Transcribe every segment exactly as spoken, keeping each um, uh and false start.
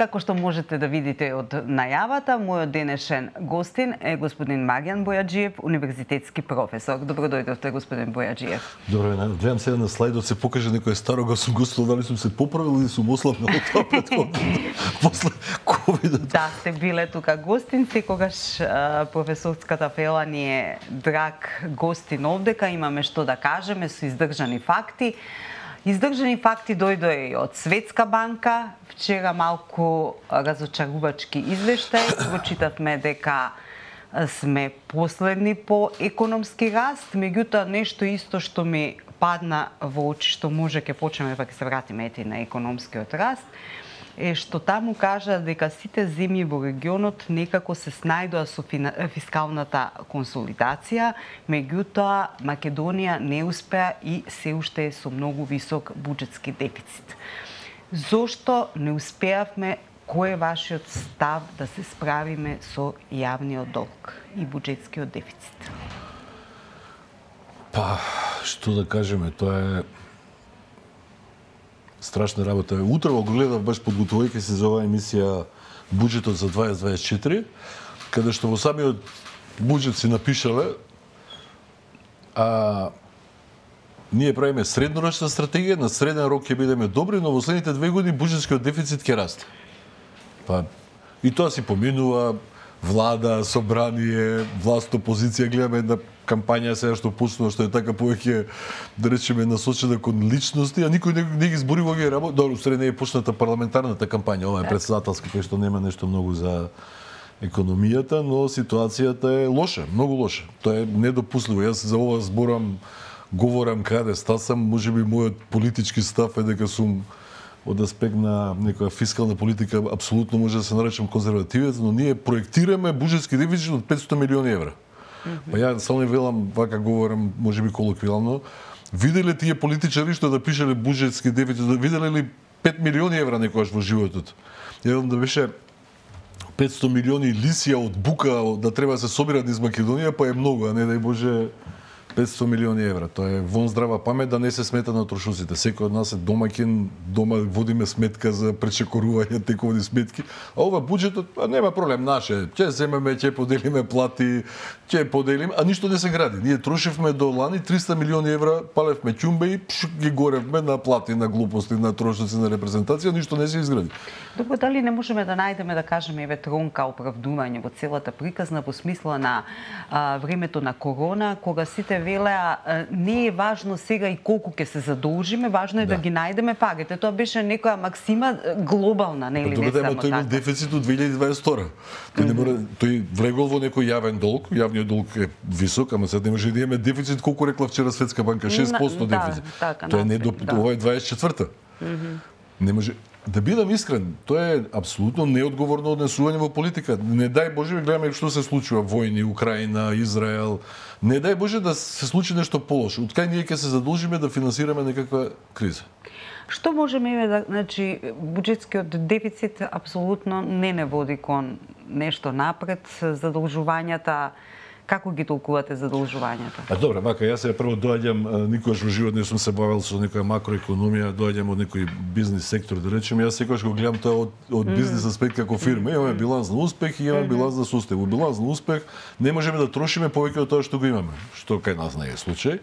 Како што можете да видите од најавата, мојот денешен гостин е господин Маријан Бојаджиев, универзитетски професор. Добро дојдовте, господин Бојаджиев. Добро, гледам сега на слайдот се покаже некој старо го сум гостувал, дали сум се поправил или сум ослабнал од тоа претходно после ковидот. Да, сте биле тука гостин, секогаш професорската фела ни е драг гостин овдека, имаме што да кажеме со издржани факти. Издржани факти дојдоа и од Светска банка. Вчера малку разочарувачки извештај. Прочитавме дека сме последни по економски раст, меѓутоа нешто исто што ми падна во очи, што може ќе почнеме па ќе се вратиме ети на економскиот раст, е што таму кажа дека сите земји во регионот некако се снајдоа со фискалната консолидација, меѓутоа Македонија не успеа и се уште е со многу висок буџетски дефицит. Зошто не успеавме? Кој е вашиот став да се справиме со јавниот долг и буџетскиот дефицит? Па, што да кажеме, тоа е страшна работа. Утрово го гледав баш подготвувајќи се за оваа емисија буџетот за дваесет дваесет и четири, каде што во самиот буџет си напишале а ние правиме среднорочна стратегија, на среден рок ќе бидеме добри, но во следните две години буџетскиот дефицит ќе расте. Па и тоа си поминува влада, собрание, власт, опозиција, гледаме една кампања сега што почнува, што е така повеќе, да речеме, насочена кон личности, а никој не, не ги збори во овие работи. Добро, среде не е почната парламентарната кампања, ова е председателска, кај што нема нешто многу за економијата, но ситуацијата е лоша, многу лоша. Тоа е недопустливо. Јас за ова зборам, говорам каде стасам, можеби мојот политички став е дека сум од аспект на некоја фискална политика апсолутно може да се наречам конзервативец, но ние проектираме буџетски дефицит од петстотини милиони евра. Па ја само не велам, вака говорам, можеби колоквијално, виделе тие политичари што да пишеле буџетски дефицит, виделе ли пет милиони евра некогаш во животот? Еден да беше петстотини милиони лисија од бука да треба да се собират низ Македонија, па е многу, а не дај Боже петстотини милиони евра. Тоа е вон здрава памет да не се смета на трошуците. Секој од нас е домаќин, дома водиме сметка за пречекорување тековни сметки. А ова буџетот, а нема проблем, наше. Ќе земеме, ќе поделиме плати, ќе поделиме, а ништо не се гради. Ние трошевме до лани триста милиони евра, палевме ќумбе и пш, ги горевме на плати, на глупости, на трошоци, на репрезентација, ништо не се изгради. Добро, дали не можеме да најдеме, да кажеме, еве тронка оправдување во целата приказна во смисла на а, времето на корона, кога сите велеа не е важно сега и колку ќе се задолжиме, важно е да, да ги најдеме парите. Тоа беше некоја максима глобална, нели, не само така. Тој има дефицит од две илјади дваесет и втора. Тој не мора, тој влегол во некој јавен долг, јавниот долг е висок, ама сега не може да имаме дефицит, колку рекла вчера Светска банка, шест проценти дефицит. Да, така, тоа е не до ова е дваесет и четврта. Не може. Да бидам искрен, тоа е апсолутно неодговорно однесување во политика. Не дај Боже, гледаме што се случува, војни, Украина, Израел. Не дај Боже да се случи нешто полошо. Од кај ние ќе се задолжиме да финансираме некаква криза. Што можеме да, значи, буџетскиот дефицит апсолутно не не води кон нешто напред, задолжувањата. Како ги толкувате задолжувањата? А добре, мака јас сега прво доаѓам, никогаш во живот не сум се бавел со некоја макроекономија, доаѓам од некој бизнис сектор, да речеме, јас секогаш го гледам тоа од, од mm. бизнис аспект како фирма. Имаме биланс на успех и имаме mm -hmm. биланс на сустав. Во биланс на успех не можеме да трошиме повеќе од тоа што го имаме, што кај нас не е случај.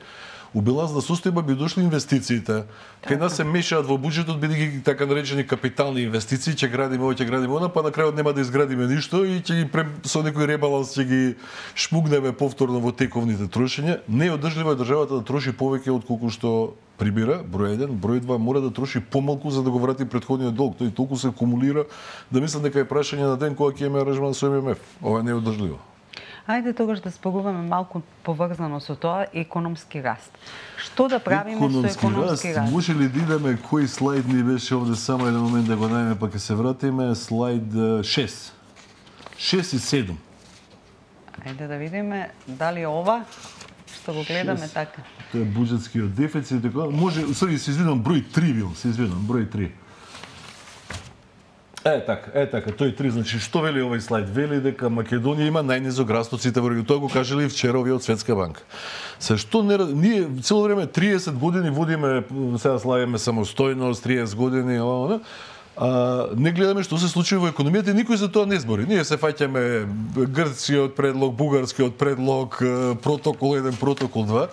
У биланс на сустојба би дошли инвестициите. Кај нас се мешаат во буџетот бидејќи така наречени капитални инвестиции, ќе градиме ова, ќе градиме она, па на крајот нема да изградиме ништо и ќе ги со некој ребаланс ќе ги шмугнеме повторно во тековните трошења. Не е одржливо е државата да троши повеќе од колку што прибира, број еден, број два мора да троши помалку за да го врати претходниот долг. Тој толку се акумулира да мислам дека е прашање на ден кога ќе имаме аранжман со Ем Ем Еф. Ова не е одржливо. Ајде тогаш да споруваме малку поврзано со тоа економски раст. Што да правиме економски со економски раст? раст? Може ли да идеме кој слайд ни беше овде, само еден момент да го најдеме па ќе се вратиме, слайд шест. шест и седум. Ајде да видиме дали ова што го гледаме шест. Така. Тоа е буџетскиот дефицит, така. Може, сори, се извинувам, број три бил, се извинувам, број три. Е така, е така, тој три, значи што вели овој слайд? Вели дека Македонија има најнизок раст од сите во регионот. Тоа го кажале и вчера овие од Светска банка. Се што не ние цело време триесет години водиме, сега славиме самостојност, триесет години, ова, А, не гледаме што се случува во економијата и никој за тоа не збори. Ние се фаќаме грцкиот предлог, бугарскиот предлог, протокол еден, протокол два.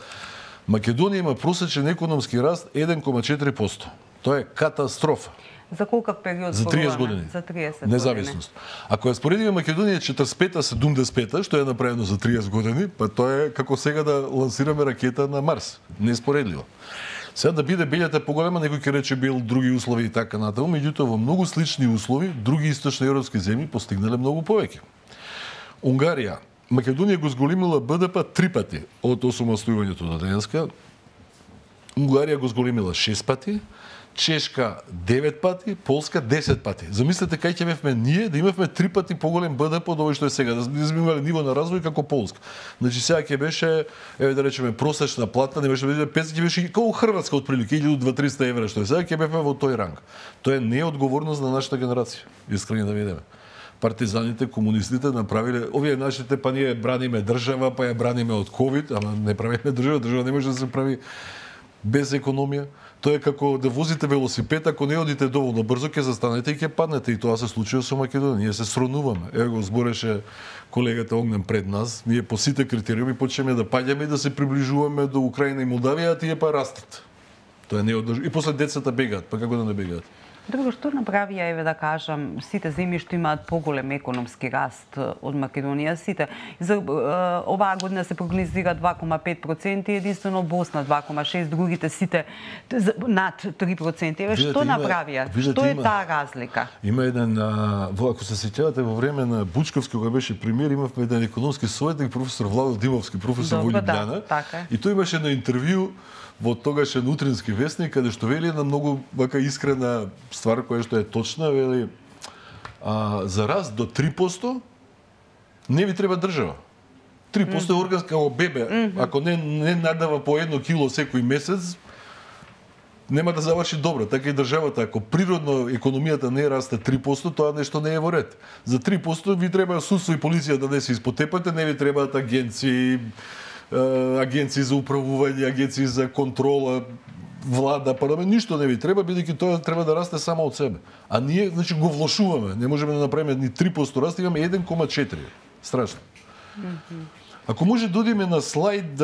Македонија има просечен економски раст еден кома четири проценти. Тоа е катастрофа. За колкав период? За триесет години. За триесет Независност. Ако ја споредиме Македонија четридесет и пета седумдесет и пета, што е направено за триесет години, па тоа е како сега да лансираме ракета на Марс. Неспоредливо. Сега да биде белјата поголема, некој ќе рече бил други услови и така натаму, меѓутоа во многу слични услови други источни европски земји постигнале многу повеќе. Унгарија, Македонија го зголемила Б Д П три пати од осамостојувањето до денеска. Унгарија го зголемила шест пати, Чешка девет пати, Полска десет пати. Замислете кај ќе бевме ние да имавме три пати поголем Б Д П од овој што е сега, да сме имале ниво на развој како Полска. Значи сега ќе беше, еве да речеме, просечна плата, не беше петстотини, ќе беше како Хрватска отприлика илјада до триста евра што е сега, ќе бевме во тој ранг. Тоа е неодговорност на нашата генерација. Искрено да видиме. Партизаните, комунистите направиле, овие нашите, па ние браниме држава, па ја браниме од ковид, ама не правиме држава, држава не може да се прави без економија. Тоа е како да возите велосипед, ако не одите доволно брзо, ќе застанете и ќе паднете. И тоа се случува со Македонија. Ние се сронуваме. Ево го збореше колегата Огнен пред нас. Ние по сите критериуми почнеме да паѓаме и да се приближуваме до Украина и Молдавија, а тие па растат. Тоа е неодржливо. И после децата бегаат, па како да не бегаат? Друго, што направија, еве да кажам, сите земји што имаат поголем економски раст од Македонија, сите. За оваа година се прогнозира два кома пет проценти, единствено Босна два кома шест, другите сите над три проценти. Еве што направија? Што е таа разлика? Има еден, ако се сеќавате, во време на Бучковски, кога беше премиер, имавме еден економски советник, професор Владо Димовски, професор во Љубљана. И тој имаше на интервју во тогашен утрински вестник, каде што вели една многу вака искрена ствар која што е точна, вели а, за раст до три проценти не ви треба држава. три проценти е органска како бебе, mm -hmm. ако не не надава по едно кило секој месец, нема да заврши добро. Така и државата, ако природно економијата не расте три проценти, тоа нешто не е во ред. За три проценти ви треба судство и полиција да не се испотепате, не ви требаат агенции, агенции за управување, агенции за контрола, влада, парламент, ништо не ви треба, бидејќи тоа треба да расте само од себе. А ние, значи, го влошуваме. Не можеме да направиме ни три проценти раст, имаме еден кома четири. Страшно. Mm-hmm. Ако може да одиме на слайд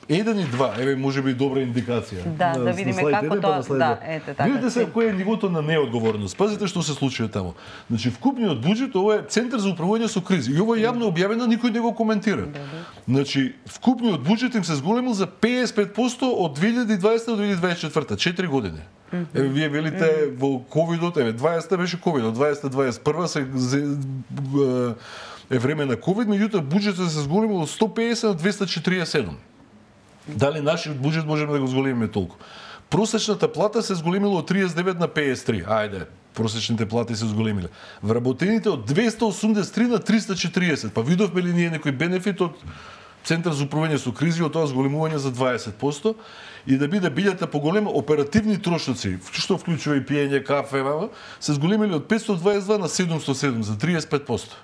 еден и два, еве можеби добра индикација. Да, на, да видиме како тоа, да, ете така. Видите се кој е нивото на неодговорност. Пазите што се случува таму. Значи вкупниот буџет ова е Центар за управување со кризи. И ова е јавно објавено, никој не го коментира. Да, да. Значи вкупниот буџет им се зголемил за педесет и пет проценти од две илјади и дваесета до две илјади и дваесет и четврта, четири години. Mm -hmm. Еве вие велите mm -hmm. во ковидот, еве дваесета беше ковидот, дваесета дваесет и прва се е време на ковид, меѓутоа буџетот се зголемил од сто педесет на двеста четиридесет и седум. Дали нашиот буџет можеме да го зголемиме толку? Просечната плата се зголемила од триесет и девет на педесет и три. Ајде, просечните плати се зголемиле. Вработените од двеста осумдесет и три на триста четиридесет. Па видовме ли ние некој бенефит од Центар за управување со кризи од тоа зголемување за дваесет проценти и да биде билјата поголема, оперативни трошоци, што вклучува и пиење кафе, се зголемиле од петстотини дваесет и два на седумстотини и седум за триесет и пет проценти.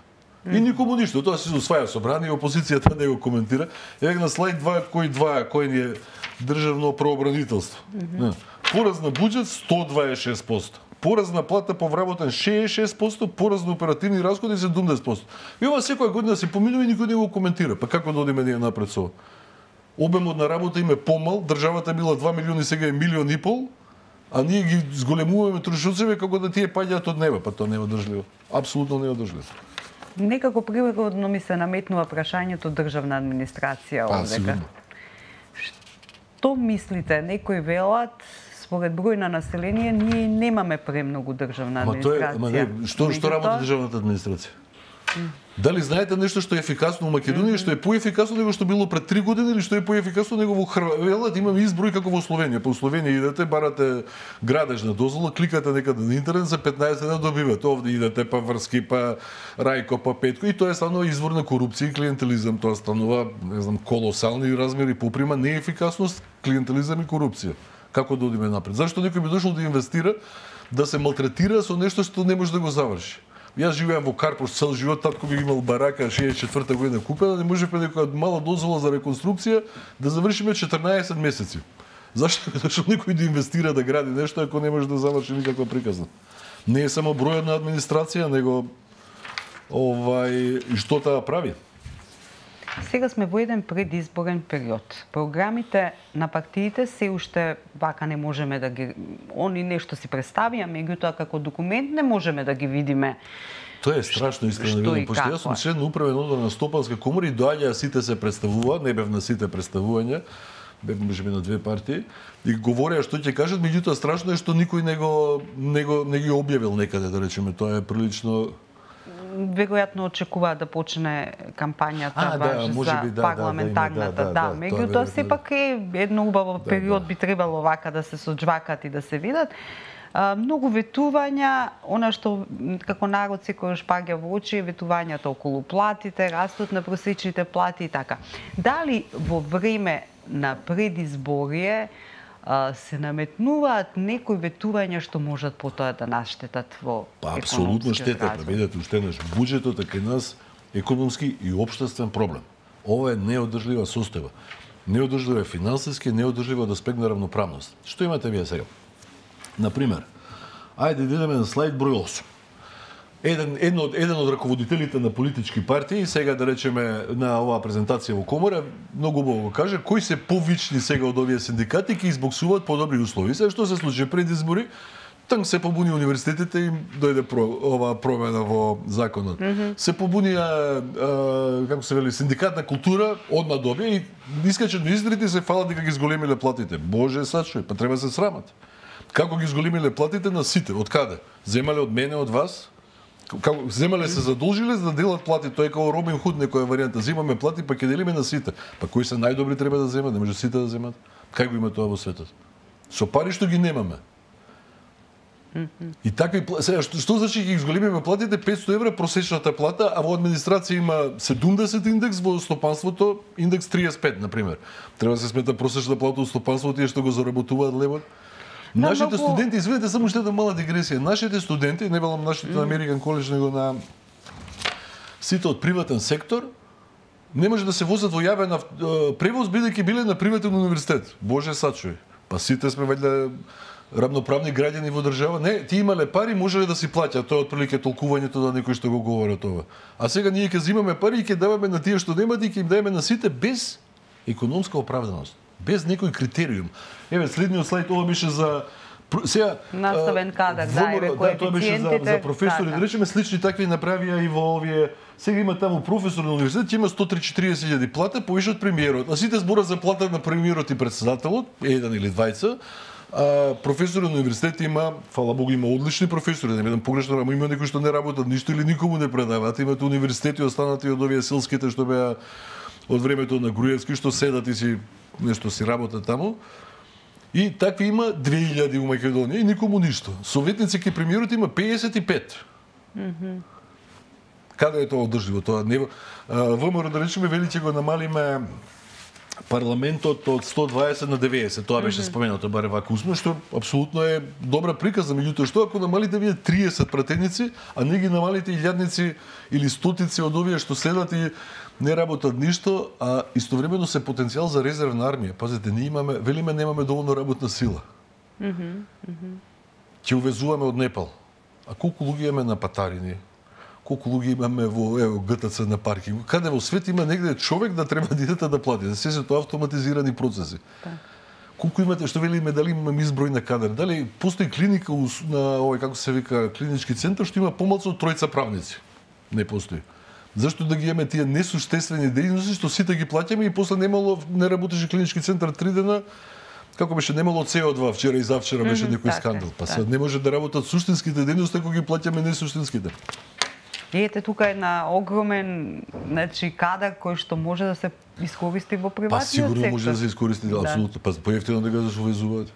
И никому ништо, тоа се усваја собрание, опозицијата не го коментира. Еве на слайд два, кој два, кој ни е државно правобранителство. Mm -hmm. Пораз на буџет сто дваесет и шест проценти. Пораз на плата по вработен шеесет и шест проценти, пораз на оперативни расходи седумдесет проценти. И ова секоја година се поминува и никој не го коментира. Па како да одиме ние напред со ова? Обемот на работа им е помал, државата била два милиони, сега е милион и пол, а ние ги зголемуваме трошоците како да тие паѓаат од неба, па тоа не е одржливо. Апсолутно не е одржливо. Некако природно ми се наметнува прашањето државна администрација овдека. Што мислите? Некои велат, според број на население, ние немаме премногу државна администрација. Ама тоа е, ама не, што, што работи државната администрација? Дали знаете нешто што е ефикасно во Македонија, mm -hmm. што е поефикасно него што било пред три години или што е поефикасно него во Хрватија? Имаме изброј како во Словенија. По Словенија идете, барате градежна дозвола, кликате некаде на интернет, за петнаесет дена добивате. Овде идете па Врски, па Рајко, па Петко и тоа е станува извор на корупција и клиентелизам. Тоа станува, не знам, колосални размери, поприма неефикасност, клиентелизам и корупција. Како да одиме напред? Зашто некој би дошол да инвестира, да се малтретира со нешто што не може да го заврши? Јас живеам во Карпош цел живот, татко би имал барака шеесет и четврта година купена, не можеме некоја мала дозвола за реконструкција да завршиме четрнаесет месеци. Зашто би дошол некој да инвестира да гради нешто ако не може да заврши никаква приказна? Не е само бројот на администрација, него овај и што таа прави. Сега сме во еден предизборен период. Програмите на партиите се уште вака не можеме да ги... Они нешто си представија, меѓутоа како документ не можеме да ги видиме. Тоа е страшно, искрено да видам, пошто јас сум член на управен одбор на Стопанска комора и доаѓаа сите се представуваат, не бев на сите представувања, бев можеби на две партии, и говореа што ќе кажат, меѓутоа страшно е што никој не го, не го не ги објавил некаде, да речеме, тоа е прилично. Веројатно очекуваат да почне кампањата а, баш да, за би, парламентарната, да, да, да, да, да, меѓутоа сепак е едно убаво да, период да. би требало вака да се соџвакат и да се видат. А, многу ветувања, она што како народ секојаш паѓа во очи е ветувањата околу платите, растот на просечните плати и така. Дали во време на предизборие се наметнуваат некои ветувања што можат потоа да наштетат во па апсолутно штета, па видете уште еднаш буџетот е кај нас економски и општествен проблем. Ова е неодржлива состојба. Неодржлива е финансиски, неодржлива од аспект на равноправност. Што имате вие сега? Например, ајде да идеме на слайд број осум. Еден, еден, од, еден од раководителите на политички партии, сега да речеме на оваа презентација во комора, многу убаво го каже, кои се повични сега од овие синдикати ќе избоксуваат подобри услови. Сега што се случи пред избори, танк се побуни универзитетите и дојде про, оваа промена во законот. Mm -hmm. Се побунија, а, како се вели, синдикат на култура, одма добија и искачат на издрите и се фалат дека ги зголемиле платите. Боже, сачуј, па треба се срамат. Како ги зголемиле платите на сите? Од каде? Земале од мене, од вас? Како земале се задолжиле за да делат плати, тоа е како Робин Худ некоја варијанта. Земаме плати па ќе делиме на сите. Па кои се најдобри треба да земат, не може сите да земат. Како има тоа во светот? Со пари што ги немаме. И такви сега што, што значи ќе ги зголемиме платите петсто евра просечната плата, а во администрација има седумдесет индекс, во стопанството индекс триесет и пет на пример. Треба да се смета просечна плата во стопанството тие што го заработуваат левот. Нашите многу... студенти, извинете, само уште една мала дигресија. Нашите студенти, не велам нашите на Американ коледж, него на сите од приватен сектор, не може да се возат во јавен превоз бидејќи биле на приватен универзитет. Боже сачуј. Па сите сме вајде равноправни граѓани во држава. Не, ти имале пари, можеле да си плаќаат. Тоа е отприлike толкувањето да некој што го говорат ова. А сега ние ќе земаме пари и ќе даваме на тие што немаат и ќе им даваме на сите без економска оправданост. Без некој критериум. Еве следниот слайд, ова беше за сега наставен кадар, да, еве да, тоа беше за, за професори, да речеме слични такви направија и во овие. Сега има таму професор на универзитет, има сто триесет и четириесет илјади плата, повише од премиерот. А сите збора за плата на премиерот и претседателот, еден или двајца. А професори на универзитет има, фала Богу, има одлични професори, да не бидам погрешно, ама има некои што не работат ништо или никому не предаваат. Имате универзитети останати од овие селските што беа од времето на Груевски, што седат и си нешто си работат таму. И такви има две илјади во Македонија и никому ништо. Советници ке премиерот има пеесет и пет. Mm-hmm. Каде е тоа одржливо? Тоа не ВМРО да речеме вели ќе го намалиме парламентот од сто дваесет на деветдесет. Тоа беше mm-hmm. споменато баре вака усмено, што апсолутно е добра приказна, меѓутоа што ако намалите вие триесет пратеници, а не ги намалите илјадници или стотици од овие што следат и не работат ништо, а истовремено се потенцијал за резервна армија. Пазете, ние имаме, велиме немаме доволно работна сила. Ќе mm -hmm. увезуваме од Непал. А колку луѓе имаме на патарини? Колку луѓе имаме во ево ГТЦ на паркинг? Каде во свет има негде човек да треба да идете да плати? За се се тоа автоматизирани процеси. Да. Колку имате, што велиме, дали имаме изброј на кадар? Дали постои клиника на овој како се вика клинички центар што има помалку од тројца правници? Не постои. Зашто да ги имаме тие несуштествени дејности што сите ги плаќаме и после немало не работеше клинички центар три дена, како беше немало С О два вчера и завчера беше mm -hmm, некој скандал. Па сега не може да работат суштинските дејности ако ги плаќаме несуштинските. И ете тука една огромен, значи кадар кој што може да се искористи во приватниот сектор. Па сигурно може да се искористи, да, апсолутно. Па поевтино да го увезуваат.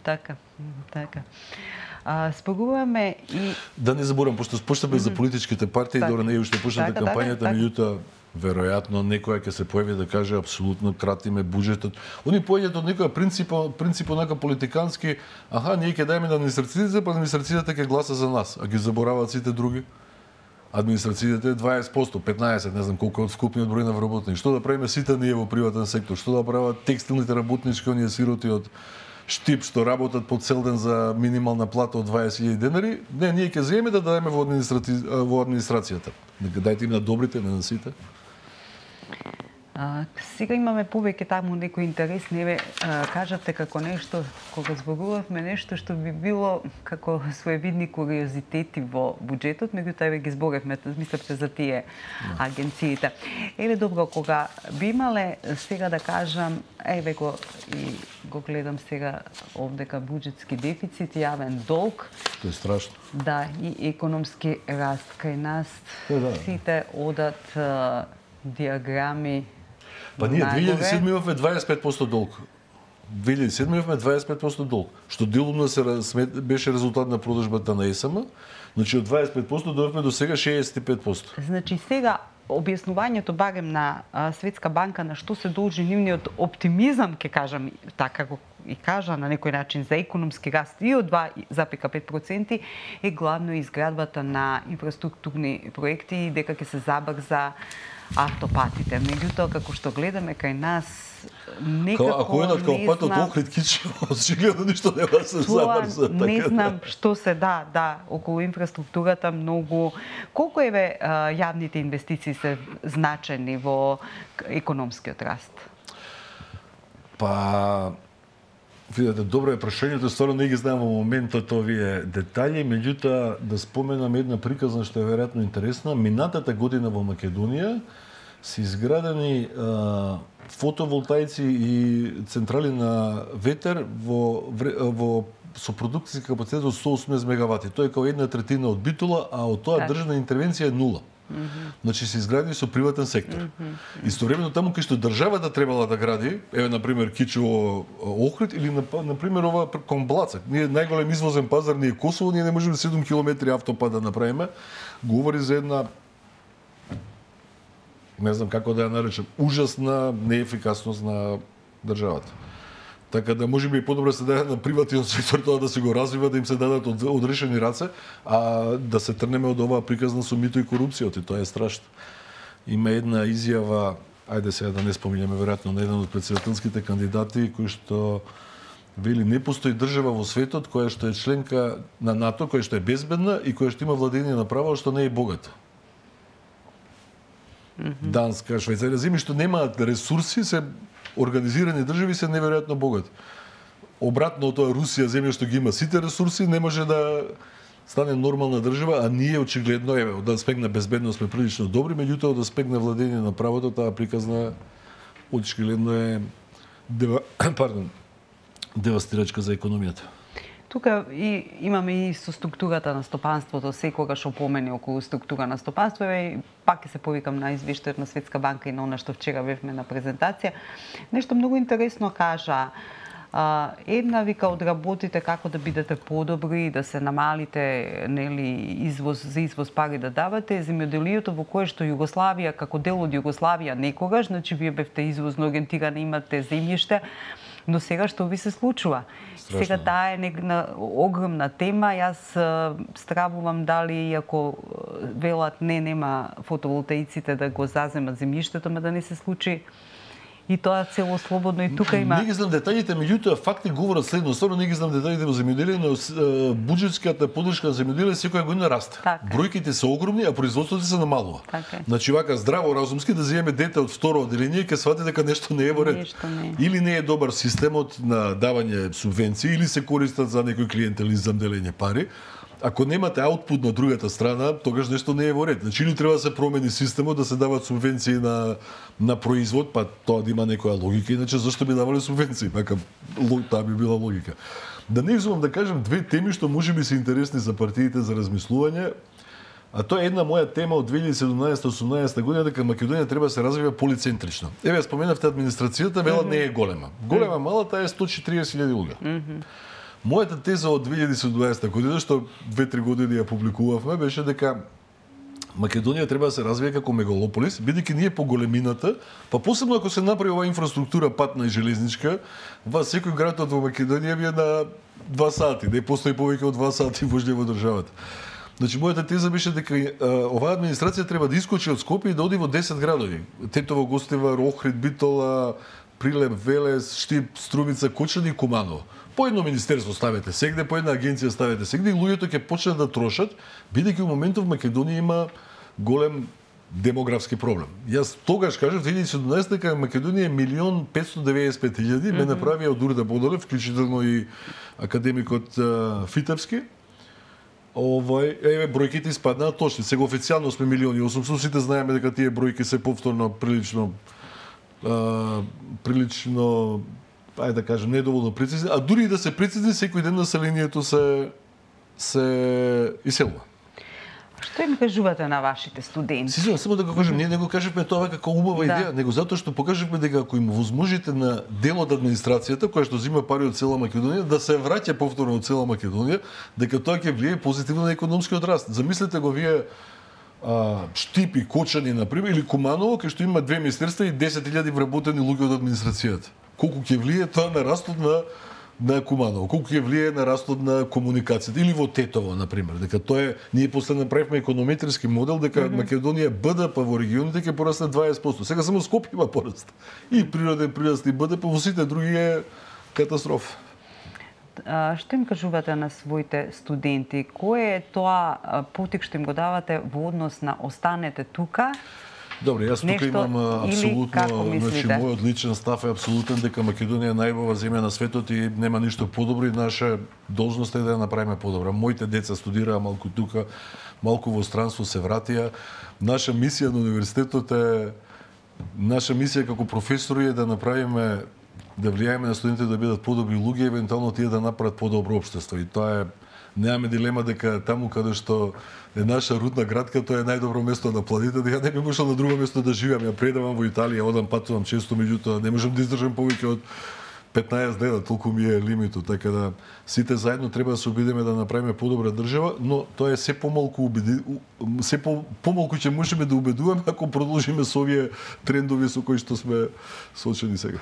Така, така. А, споруваме и... Да не заборам, пошто почнавме mm -hmm. за политичките партии, така. Добро, не уште почната така, кампањата, така, меѓутоа, веројатно некоја ќе се појави да каже апсолутно кратиме буџетот. Они појдат од некоја принципо, принципо нака политикански, аха, ние ќе дајме на администрацијата, па администрацијата ќе гласа за нас, а ги забораваат сите други. Администрацијата е дваесет проценти, петнаесет, не знам колку од вкупниот број на вработени. Што да правиме сите ние во приватен сектор? Што да прават текстилните работнички, оние сироти од Штип што работат по цел ден за минимална плата од дваесет илјади денари, не, ние ќе земеме да дадеме во, администраци... во администрацијата. Нека дајте им на добрите, не на сите. А, сега имаме повеќе таму некој интерес, не ве кажавте како нешто, кога зборувавме нешто што би било како своевидни куриозитети во буџетот, меѓутоа еве ги зборевме, мислевте за тие агенциите. Еве добро, кога би имале сега да кажам, еве го и го гледам сега овдека буџетски дефицит, јавен долг. Тоа е страшно. Да, и економски раст кај нас. Е, да. Сите одат а, диаграми. Па ние две илјади и седма имавме дваесет и пет проценти долг. две илјади и седма имавме дваесет и пет проценти долг, што делумно се беше резултат на продажбата на ЕСМ. Значи од дваесет и пет проценти дојдовме до сега шеесет и пет проценти. Значи сега објаснувањето барем на а, Светска банка на што се должи нивниот оптимизам, ќе кажам така го и кажа на некој начин за економски раст и од два запир пет проценти е главно изградбата на инфраструктурни проекти и дека ќе се забрза автопатите. Меѓутоа, како што гледаме кај нас, некако ако едат као не патот знам... Охрид Кичево, очигледно ништо нема да се забрза. Тоа не така знам што се да, да, околу инфраструктурата многу... Колку еве јавните инвестиции се значени во економскиот раст? Па, видете, добро е прашањето, стварно не ги знам во моментот овие детали, меѓутоа да споменам една приказна што е веројатно интересна. Минатата година во Македонија се изградени а, фотоволтаици и централи на ветер во, во со продукцијски капацитет од сто и осумнаесет мегавати. Тоа е како една третина од Битола, а од тоа државна интервенција е нула. Mm -hmm. Значи се изградени со приватен сектор. Mm -hmm. Истовремено таму кај што државата требала да гради, еве на пример Кичево Охрид или на, на пример ова кон Блацак. Ние најголем извозен пазар ни е Косово, ние не можеме седум километри автопад да направиме. Говори за една, не знам како да ја наречам, ужасна неефикасност на државата. Така да можеби и подобро се даде на приватниот сектор тоа да се го развива, да им се дадат од, одрешени раце, а да се трнеме од оваа приказна со мито и корупцијата, и тоа е страшно. Има една изјава, ајде сега да не споминеме веројатно на еден од претседателските кандидати кој што вели не постои држава во светот која што е членка на НАТО, која што е безбедна и која што има владење на право, што не е богата. Mm -hmm. Данска, Швајцарија, земји што немаат ресурси, се организирани држави се неверојатно богати. Обратно од тоа Русија, земја што ги има сите ресурси, не може да стане нормална држава, а ние очигледно еве од аспект на безбедност сме прилично добри, меѓутоа од аспект на владење на правото таа приказна очигледно е дева... пардон, девастирачка за економијата. Тука и имаме и со структурата на стопанството, секогаш опомени околу структура на стопанство, и пак ќе се повикам на извештајот на Светска банка и на она што вчера бевме на презентација. Нешто многу интересно кажа. Uh, една вика од работите како да бидете подобри, да се намалите, нели, извоз за извоз пари да давате, земјоделието во кое што Југославија како дел од Југославија некогаш, значи вие бевте извозно ориентирани, имате земјиште, но сега што ви се случува? Страшно. Сега таа е една огромна тема. Јас стравувам дали ако велат не нема фотоволтаиците да го заземат земјиштето, ма да не се случи и тоа цело слободно и тука има. Не ги знам детаљите, меѓутоа факти говорат следно. Стварно не ги знам детаљите во земјоделие, но буџетската поддршка за земјоделие секоја година расте. Така. Бројките се огромни, а производството се намалува. Така. Значи вака здраво разумски да земеме дете од второ одделение, ќе свати дека нешто не е во ред. Нешто не. Или не е добар системот на давање субвенции, или се користат за некој клиентелизам делење пари. Ако немате аутпут на другата страна, тогаш нешто не е во ред. Значи или треба да се промени системот, да се дават субвенции на на производ, па тоа да има некоја логика, иначе зашто би давале субвенции? Така таа би била логика. Да не изумам да кажам две теми што можеби се интересни за партиите за размислување. А тоа е една моја тема од две илјади и седумнаесета осумнаесета година, дека Македонија треба да се развива полицентрично. Еве споменавте администрацијата, вела mm -hmm. не е голема. Голема мала таа е сто и четириесет илјади луѓе. Mm -hmm. Мојата теза од две илјади и седумнаесета година, што две-три години ја публикувавме, беше дека Македонија треба да се развие како мегалополис, бидејќи ние по големината, па посебно ако се направи оваа инфраструктура патна и железничка, во секој град во Македонија би е на два сати, не постои повеќе од два сати воžње во државата. Значи мојата теза беше дека а, оваа администрација треба да искочи од Скопје и да оди во десет градови. Тетово, Гостивар, Охрид, Битола, Прилеп, Велес, Штип, Струмица, Кочани и Куманово. По едно министерство ставете сегде, по една агенција ставете сегде и луѓето ќе почнат да трошат, бидејќи во моментов Македонија има голем демографски проблем. Јас тогаш кажав две илјади и седумнаесета дека Македонија е милион петстотини и деветдесет и пет илјади, mm -hmm. ме направија од Урда Бодолев, вклучително и академикот uh, Фитевски. Овој, еве бројките испаднаа точни. Сега официјално сме милион и осумстотини, сите знаеме дека тие бројки се повторно прилично uh, прилично ајде да кажем недоволно прецизни, а дури и да се прецизни, секој ден населението се се иселува. Што им кажувате на вашите студенти? Си, само да го кажем, ние не го кажеме тоа како убава да. идеја, него затоа што покажавме дека ако им возможите на дел од администрацијата, која што зима пари од цела Македонија, да се враќа повторно од цела Македонија, дека тоа ќе влие позитивно на економскиот раст. Замислете го вие а, Штипи, Кочани, например, или Куманово, кај што има две министерства и десет илјади вработени луѓе од администрацијата. Колку ќе влие тоа на растот на на Куманово, колку ќе влие на растот на комуникацијата, или во Тетово, например, дека тоа е, ние после направивме економетриски модел дека mm -hmm. Македонија Б Д П во регионите ќе порасне дваесет проценти. Сега само Скопје има пораст. И природен прираст и Б Д П, во сите други е катастрофа. А, што им кажувате на своите студенти? Кој е тоа потик што им го давате во однос на останете тука? Добре, јас тука имам апсолутно, значи мојот личен став е апсолутен дека Македонија е најубава земја на светот и нема ништо подобро и наша должност е да ја направиме подобра. Моите деца студираа малку тука, малку во странство се вратија. Наша мисија на универзитетот е наша мисија како професори е да направиме да влијаеме на студентите да бидат подобри луѓе, евентуално тие да направат подобро општество и тоа е немаме дилема дека таму каде што е наша рудна градка, тоа е најдобро место на планетата. Ја не би можел на друго место да живеам. Ја предавам во Италија, одам патувам често, меѓутоа не можам да издржам повеќе од петнаесет дена, толку ми е лимитот. Така да сите заедно треба да се обидеме да направиме подобра држава, но тоа е се помалку убеди, се по, помалку ќе можеме да убедуваме ако продолжиме со овие трендови со кои што сме соочени сега.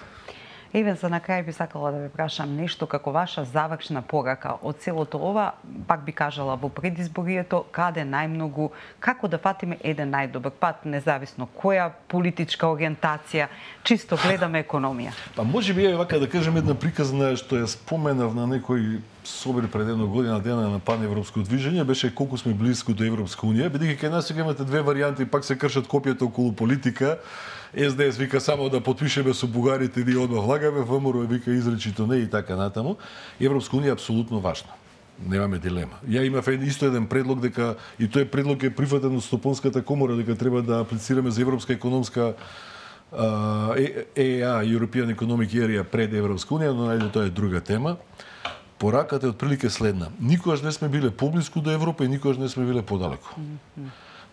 Еве, за на крај би сакала да ве прашам нешто како ваша завршна порака од целото ова, пак би кажала во предизборието, каде најмногу, како да фатиме еден најдобар пат, независно која политичка ориентација, чисто гледаме економија. Па може би е вака да кажем една приказна што ја споменав на некој собир пред една година дена на паневропско движење, беше колку сме близко до Европска унија, бидејќи кај нас сега имате две варијанти, пак се кршат копјата околу политика. Ес Де Ес вика само да потпишеме со бугарите, ние одмah влагаме, ВМРО вика изречито не и така натаму. Европска унија е апсолутно важна. Немаме дилема. Ја имав исто еден предлог дека и тој предлог е прифатен од Стопонската комора дека треба да аплицираме за Европска економска Е Е А, European Economic Area пред Европска унија, но најде тоа е друга тема. Пораката е отприлике следна. Никогаш не сме биле поблиску до Европа и никогаш не сме биле подалеку.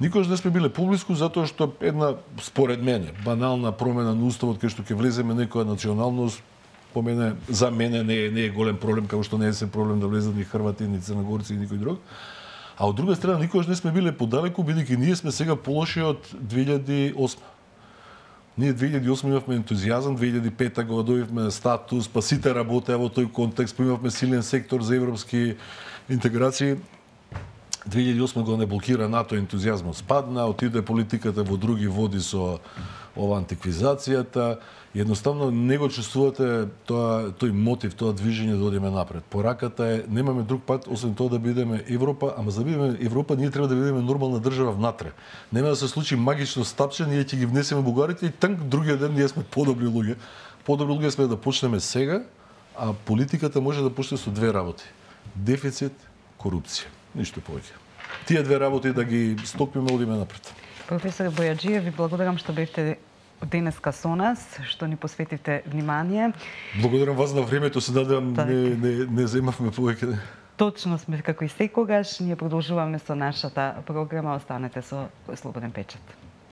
Никогаш не сме биле поблиску затоа што една, според мене, банална промена на уставот кај што ќе влеземе некоја националност, по мене, за мене не е, не е голем проблем, како што не е се проблем да влезат ни хрвати, ни црногорци и никој друг. А од друга страна, никогаш не сме биле подалеку, бидејќи ние сме сега полоши од две илјади и осма. Ние две илјади и осма имавме ентузијазам, две илјади и пета го добивме статус, па сите работеа во тој контекст, имавме силен сектор за европски интеграции. две илјади и осма го не блокира НАТО, ентузијазмот спадна, отиде политиката во други води со ова антиквизацијата. Едноставно не го чувствувате тоа, тој мотив, тоа движење да одиме напред. Пораката е, немаме друг пат, освен тоа да бидеме Европа, ама за да бидеме Европа, ние треба да бидеме нормална држава внатре. Нема да се случи магично стапче, ние ќе ги внесеме бугарите и танк другиот ден ние сме подобри луѓе. Подобри луѓе сме да почнеме сега, а политиката може да почне со две работи. Дефицит, корупција. Ништо повеќе. Тие две работи да ги стопиме, одиме напред. Професор Бојаджиев, ви благодарам што бевте денеска со нас, што ни посветивте внимание. Благодарам вас на времето, се надевам не, не, не земавме повеќе. Точно сме како и секогаш. Ние продолжуваме со нашата програма. Останете со Слободен печат.